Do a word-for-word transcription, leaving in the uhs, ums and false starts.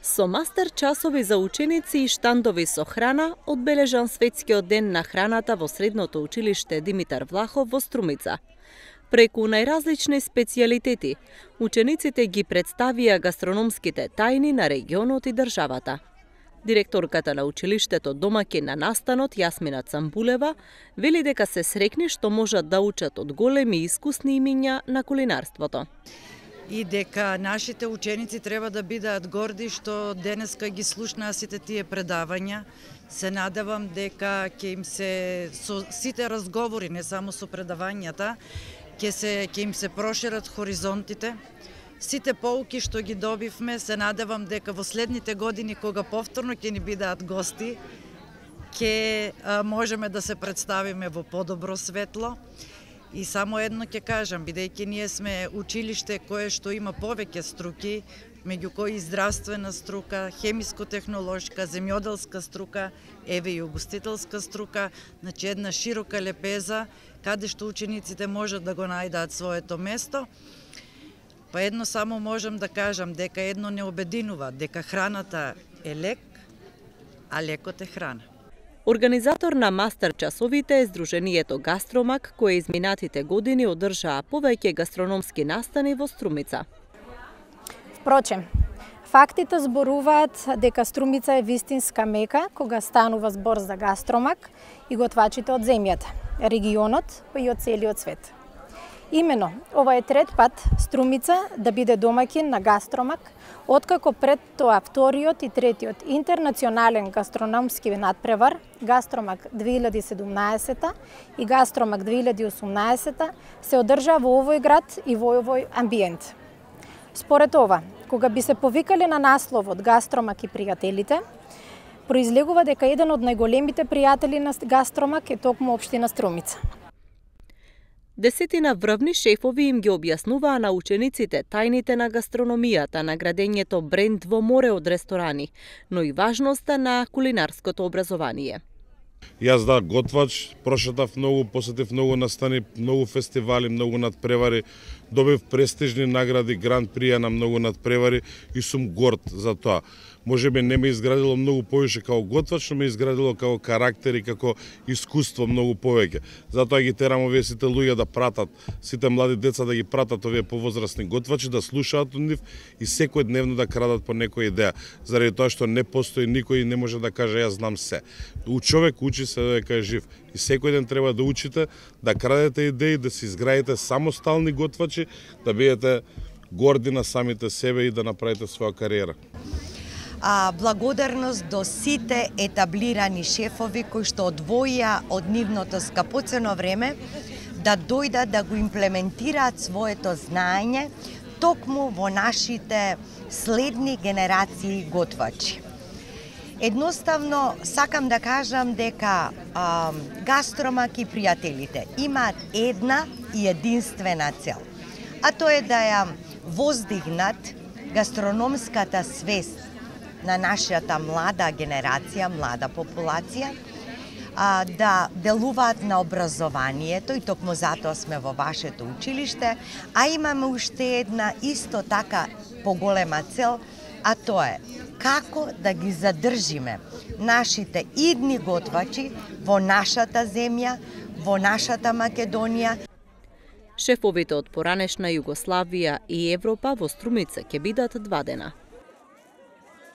Со мастер часови за ученици и штандови со храна одбележан Светскиот ден на храната во Средното училиште Димитар Влахов во Струмица. Преку најразлични специјалитети, учениците ги представија гастрономските тајни на регионот и државата. Директорката на училиштето домаќин на настанот Јасмина Цамбулева вели дека се срекни што можат да учат од големи и искусни имиња на кулинарството. И дека нашите ученици треба да бидат горди што денеска ги слушнаа сите тие предавања. Се надевам дека ќе им се со сите разговори, не само со предавањата, ќе се ќе им се прошират хоризонтите. Сите поуки што ги добивме, се надевам дека во следните години кога повторно ќе ни бидат гости, ќе можеме да се представиме во подобро светло. И само едно ќе кажам, бидејќи ние сме училиште кое што има повеќе струки, меѓу кои здравствена струка, хемиско-технолошка, земјоделска струка, еве и угостителска струка, значи една широка лепеза, каде што учениците можат да го најдат своето место. Па едно само можам да кажам дека едно не обединува, дека храната е лек, а лекот е храна. Организатор на мастер часовите е Сдруженијето Гастромак, кое изминатите години одржаа повеќе гастрономски настани во Струмица. Впрочем, фактите зборуваат дека Струмица е вистинска мека кога станува збор за гастромак и готвачите од земјата, регионот, па и од целиот свет. Имено, ова е трет пат Струмица да биде домаќин на гастромак, откако пред тоа вториот и третиот интернационален гастрономски надпревар, Гастромак две илјади и седумнаесета и Гастромак две илјади и осумнаесета, се одржа во овој град и во овој амбиент. Според ова, кога би се повикале на насловот Гастромак и пријателите, произлегува дека еден од најголемите пријатели на Гастромак е токму општина Струмица. Десетина врвни шефови им ги објаснуваа на учениците тајните на гастрономијата, наградењето бренд во море од ресторани, но и важноста на кулинарското образование. Јас да готвач, прошетав многу, посетив многу настани, многу фестивали, многу надпревари, добив престижни награди, гранд прија на многу надпревари и сум горд за тоа. Може би не ме изградило многу повеќе како готвач, но ме изградило како карактер и како искуство многу повеќе. Затоа ги терам овие сите луѓе да пратат, сите млади деца да ги пратат овие повозрасни готвачи, да слушаат од нив и секој дневно да крадат по некоја идеја, заради тоа што не постои никој и не може да каже јас знам се. У човек учи се додека е жив и секој ден треба да учите, да крадете идеи, да се изградите самостални готвачи, да бидете горди на самите себе и да направите своја кариера. А, благодарност до сите етаблирани шефови кои што одвоија од нивното скапоцено време да дојдат да го имплементираат своето знаење токму во нашите следни генерации готвачи. Едноставно сакам да кажам дека а, Гастромак и пријателите имаат една и единствена цел, а тоа е да ја воздигнат гастрономската свест на нашата млада генерација, млада популација, а, да делуваат на образованието и токму затоа сме во вашето училиште, а имаме уште една исто така поголема цел, а тоа е како да ги задржиме нашите идни готвачи во нашата земја, во нашата Македонија. Шефовите од поранешна Југославија и Европа во Струмица ќе бидат два дена.